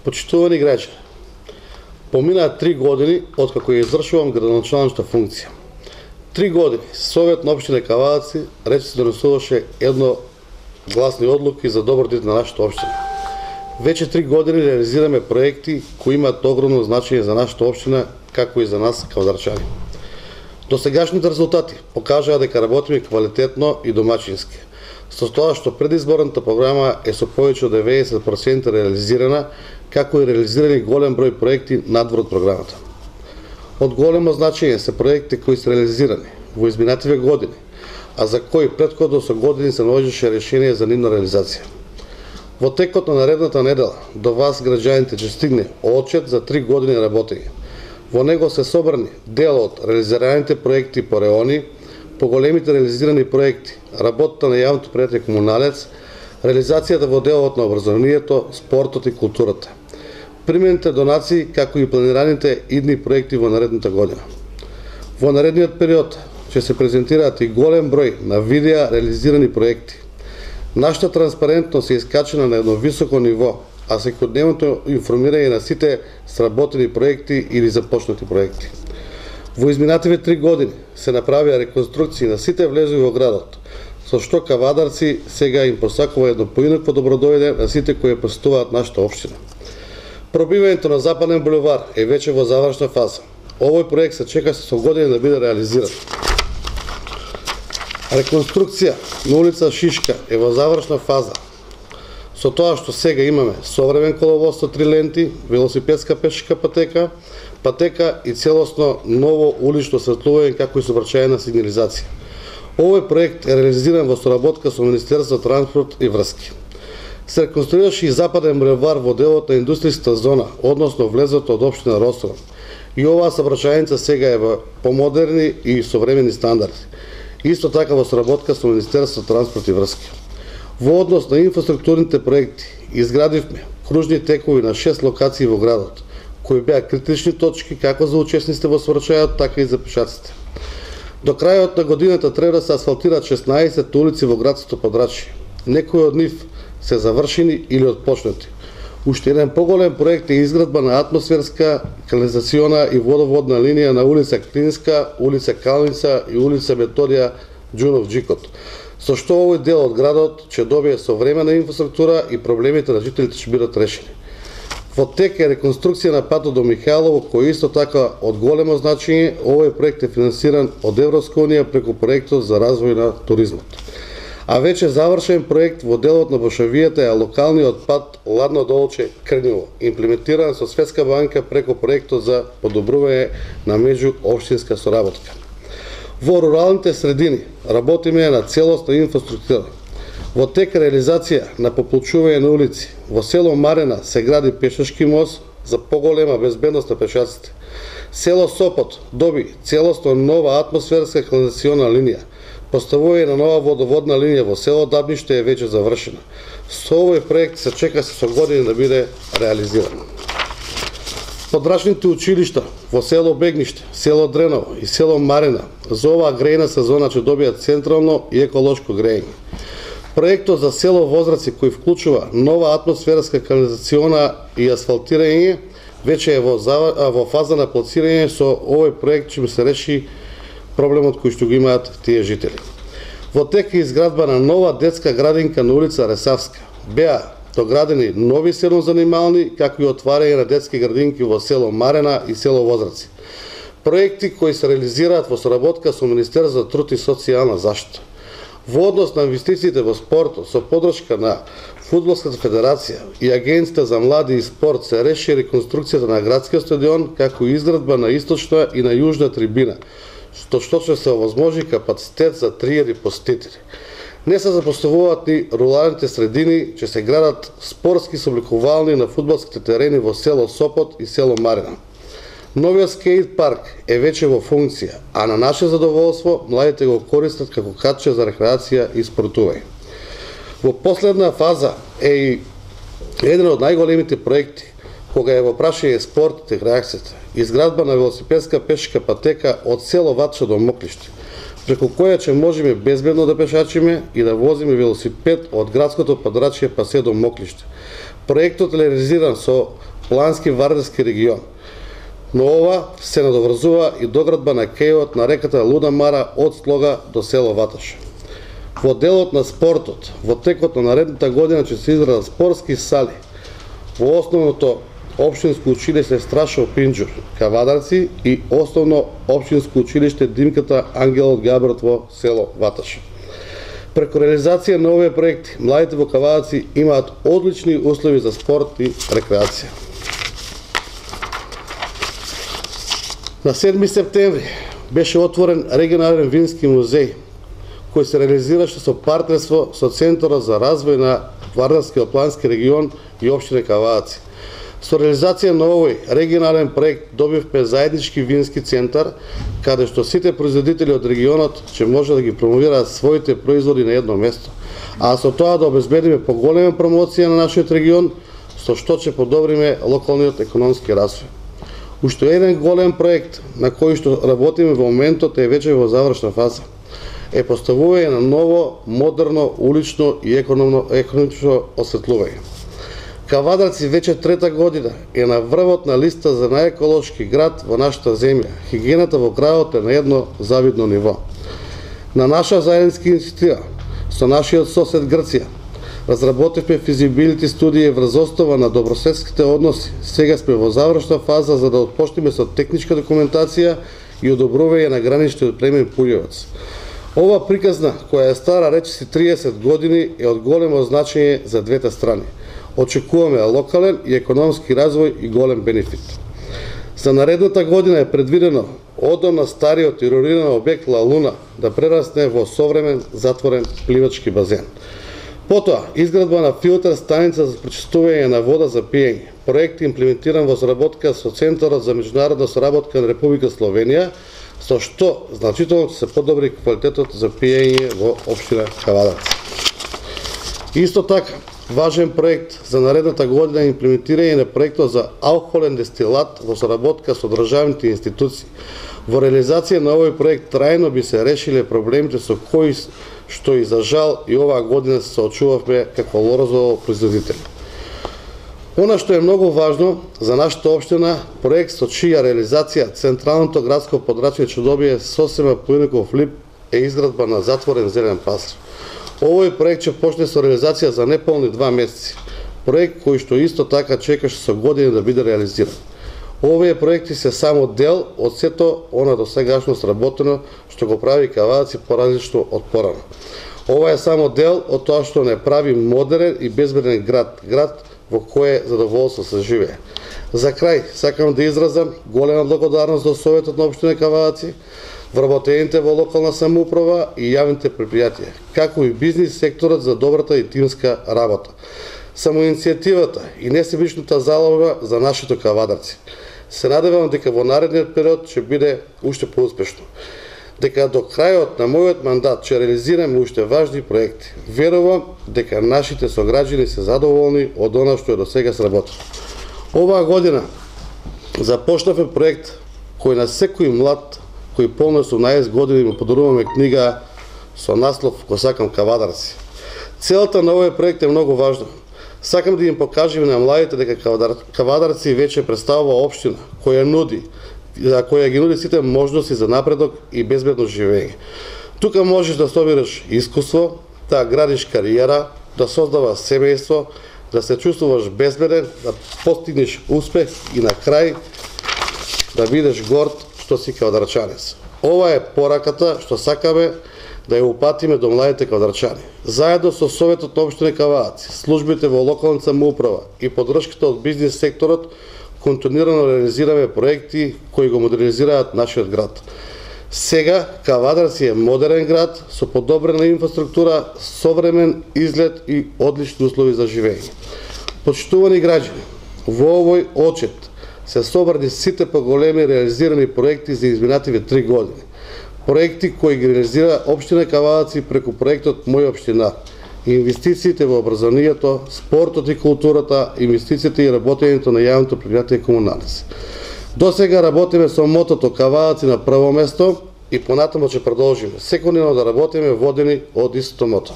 Почитувани граѓани, поминаа 3 години откако ја извршувам градоначалничка функција. 3 години Совет на општина Кавадаци рече се донесуваше едногласни одлуки за добродет на нашата општина. Веќе 3 години реализираме проекти кои имаат огромно значење за нашата општина, како и за нас кавадарчани. Досегашните резултати покажаа дека работиме квалитетно и домачински, со тоа што предизборната програма е со повеќе од 90% реализирана, како и реализирани голем број проекти надвор од програмата. Од големо значење се проекти кои се реализирани во изминативе години, а за кои претходно со години се наоѓаше решение за нивна реализација. Во текот на наредната недела до вас граѓаните ќе стигне отчет за 3 години работење. Во него се собрани дел од реализираните проекти по реони, по големите реализирани проекти, работата на јавното предпријатие Комуналец, реализацијата во делот на образованието, спортот и културата, примените донации, како и планираните идни проекти во наредната година. Во наредниот период ќе се презентираат и голем број на видеа реализирани проекти. Нашата транспарентност е искачена на едно високо ниво, а секојдневното информирање на сите сработени проекти или започнати проекти. Во изминативе 3 години се направија реконструкции на сите влезови во градот, со што кавадарци сега им посакува едно поинакво добродојде на сите кои посетуваат нашата општина. Пробивањето на Западен булевар е веќе во завршна фаза. Овој проект се чека со години да биде реализиран. Реконструкција на улица Шишка е во завршна фаза, со тоа што сега имаме современ коловоз со 3 ленти, велосипедска пешачка патека и целосно ново улично осветлување, како и сообраќајна сигнализација. Овој проект е реализиран во соработка со Министерството за транспорт и врски. Се реконструираше и Западен булевар во делот на индустријската зона, односно влезот од општина Росором. И оваа сообраќајница сега е во помодерни и современи стандарди. Исто така во соработка со Министерството за транспорт и врски. Во однос на инфраструктурните проекти, изградивме кружни текови на 6 локации во градот, кои беа критични точки како за учесниците во сообраќајот, така и за пешаците. До крајот на годината треба да се асфалтираат 16 улици во градското подрачје. Некои од нив се завршени или отпочнати. Уште еден поголем проект е изградба на атмосферска, канализациона и водоводна линија на улица Клинска, улица Калница и улица Методија Џунов-Џикот, со што овој дел од градот ќе добие современа инфраструктура и проблемите на жителите ќе бидат решени. Во тек е реконструкција на патот до Михајлово, кој исто така од големо значење. Овој проект е финансиран од Европска унија преку проектот за развој на туризмот. А веќе завршен проект во делот на Бошавијата е локалниот пат Ладно Долче Крњево, имплементиран со Светска банка преку проектот за подобрување на меѓуопштинска соработка. Во руралните средини работиме на целосна инфраструктура. Во тек реализација на пополчување на улици. Во село Марена се гради пешачки мост за поголема безбедност на пешаците. Село Сопот доби целосно нова атмосферска канализациона линија. Поставување на нова водоводна линија во село Дабниште е веќе завршена. Со овој проект се чека со години да биде реализиран. Подрачните училишта во село Бегниште, село Дреново и село Марена за оваа грејна сезона ќе добијат централно и еколошко грејење. Проектот за село Возраци, кој вклучува нова атмосферска канализациона и асфалтирање, веќе е во фаза на плацирање. Со овој проект ќе се реши проблемот кој што го имаат тие жители. Во тек е изградба на нова детска градинка на улица Ресавска. Беа доградени нови седнозанимални, како и отварање на детски градинки во село Марена и село Возраци. Проекти кои се реализираат во соработка со Министерството за труд и социјална заштита. Во однос на инвестициите во спортот, со подршка на Фудбалската федерација и Агенцијата за млади и спорт, се реши реконструкцијата на градскиот стадион, како и изградба на источна и на јужна трибина, што ќе се овозможи капацитет за 3000 посетители. Не се запоставуваат ни руралните средини, ќе се градат спортски собликувални на фудбалските терени во село Сопот и село Марина. Новиот скејт парк е веќе во функција, а на наше задоволство младите го користат како катче за рекреација и спортување. Во последна фаза е и еден од најголемите проекти, кога е во прашање спортот и рекреацијата, изградба на велосипедска пешачка патека од село Ватча до Моклиште, преку која ќе можеме безбедно да пешачиме и да возиме велосипед од градското подрачје па се до Моклиште. Проектот е реализиран со плански Вардарски регион. Но ова се надоврзува и доградба на кејот на реката Луда Мара од Слога до село Ваташ. Во делот на спортот, во текот на наредната година ќе се изградат спортски сали во основното општинско училиште Страшо Пинџур, Кавадарци и основно општинско училиште Димката Ангел Габрат во село Ваташ. Преку реализација на овие проекти, младите во Кавадарци имаат одлични услови за спорт и рекреација. На 7 септември беше отворен регионален вински музеј, кој се реализираше со партнерство со Центарот за развој на Вардарскиот плански регион и општина Кавадарци. Со реализација на овој регионален проект добивме заеднички вински центар, каде што сите производители од регионот ќе може да ги промовираат своите производи на едно место, а со тоа да обезбедиме поголема промоција на нашиот регион, со што ќе подобриме локалниот економски развој. Уште еден голем проект на кој што работиме во моментот е веќе во завршна фаза. Е поставување на ново, модерно, улично и економично осветлување. Кавадарци веќе трета година е на врвот на листа за најеколошки град во нашата земја. Хигиената во градот е на едно завидно ниво. На наша заедничка иницијатива со нашиот сосед Грција разработивме физибилити студија врз основа на добрососедските односи. Сега сме во завршна фаза за да отпочнеме со техничка документација и одобрување на граничниот премин Пулјевац. Ова приказна, која е стара речиси 30 години, е од големо значење за двете страни. Очекуваме локален и економски развој и голем бенефит. За наредната година е предвидено одамна стариот и руриран објект Ла Луна да прерасне во современ затворен пливачки базен. Потоа, изградба на филтер станица за пречистување на вода за пиење. Проект имплементиран во соработка со Центарот за меѓународна соработка на Република Словенија, со што значително ќе се подобри квалитетот за пиење во општина Кавадарци. Исто така, важен проект за наредната година е имплементирање на проектот за алкохолен дестилат во соработка со државните институции. Во реализација на овој проект трајно би се решиле проблемите со кои што и за жал и оваа година се соочувавме како лозопроизводители. Она што е многу важно за нашата општина, проект со чија реализација Централното градско подрачје ќе добие сосема поинаков лик е изградба на затворен зелен пазар. Овој проект ќе почне со реализација за неполни 2 месеци. Проект кој што исто така чекаше со години да биде реализиран. Овие проекти се само дел од сето она до сегашно сработено што го прави Кавадарци поразлично од порано. Ова е само дел од тоа што не прави модерен и безбеден град во кое задоволство се живее. За крај, сакам да изразам голема благодарност до Советот на општина Кавадарци, вработените во локална самоуправа и јавните предпријатија, како и бизнис секторот за добрата и тимска работа. Самоиницијативата и несебичната залога за нашите Кавадарци. Се надевам дека во наредниот период ќе биде уште поуспешно. Дека до крајот на мојот мандат ќе реализираме уште важни проекти. Верувам дека нашите сограѓани се задоволни од она што е до сега сработено. Оваа година започнавме проект кој на секој млад кој полно 18 години му подаруваме книга со наслов "Ко сакам Кавадарци". Целата на овој проект е многу важна. Сакам да им покажеме на младите дека Кавадарци веќе представува општина која ги нуди сите можности за напредок и безбедно живење. Тука можеш да собираш искуство, да градиш кариера, да создаваш семејство, да се чувствуваш безбеден, да постигнеш успех и на крај да бидеш горд што си кавадарчанец. Ова е пораката што сакаме да ја упатиме до младите кавадарчани. Заедно со Советот на општина Кавадарци, службите во локалната самоуправа и поддршката од бизнис секторот, континуирано реализираме проекти кои го модернизираат нашиот град. Сега Кавадарци е модерен град со подобрена инфраструктура, современ изглед и одлични услови за живење. Почитувани граѓани, во овој отчет се собрани сите поголеми реализирани проекти за изминативе 3 години. Проекти кои ги реализира општина Кавадарци преку проектот Моја општина. Инвестициите во образованието, спортот и културата, инвестициите и работењето на јавното предпријатие комуналици. До сега работиме со мотото Кавадарци на прво место и понатамо ќе продолжиме секојдневно да работиме водени од истото мото.